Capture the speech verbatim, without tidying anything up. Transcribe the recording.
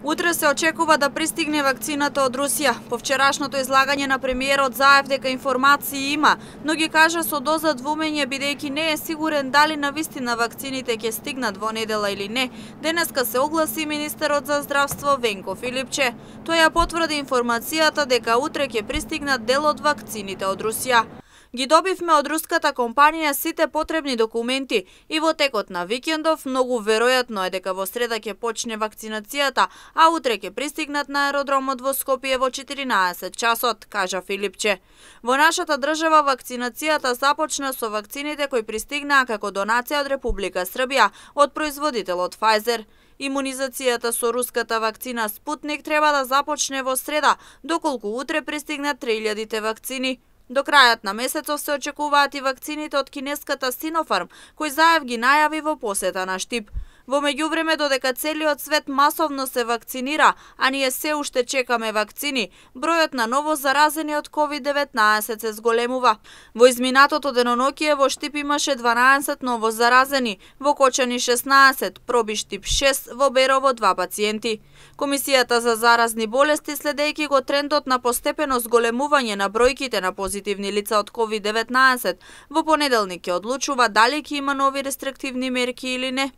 Утре се очекува да пристигне вакцината од Русија. По вчерашното излагање на премиерот заев дека информации има, но ги кажа со доза двумење бидејќи не е сигурен дали навистина вакцините ќе стигнат во недела или не. Денеска се огласи министерот за здравство Венко Филипче. Тој ја потврди информацијата дека утре ќе пристигнат дел од вакцините од Русија. Ги добивме од руската компанија сите потребни документи и во текот на викендов многу веројатно е дека во среда ќе почне вакцинацијата, а утре ќе пристигнат на аеродромот во Скопје во четиринаесет часот, кажа Филипче. Во нашата држава вакцинацијата започна со вакцините кои пристигнаа како донација од Република Србија од производителот Pfizer. Имунизацијата со руската вакцина Спутник треба да започне во среда, доколку утре пристигнат три илјади вакцини. До крајот на месецов се очекуваат и вакцините од кинеската Синофарм, кој заев ги најави во посета на Штип. Во меѓувреме, додека целиот свет масовно се вакцинира, а ние се уште чекаме вакцини, бројот на ново заразени од ковид деветнаесет се зголемува. Во изминатото деноноќие во Штип имаше дванаесет ново заразени, во Кочани шеснаесет, проби Штип шест, во Берово два пациенти. Комисијата за заразни болести, следејќи го трендот на постепено зголемување на бројките на позитивни лица од ковид деветнаесет, во понеделник ќе одлучува дали ќе има нови рестриктивни мерки или не.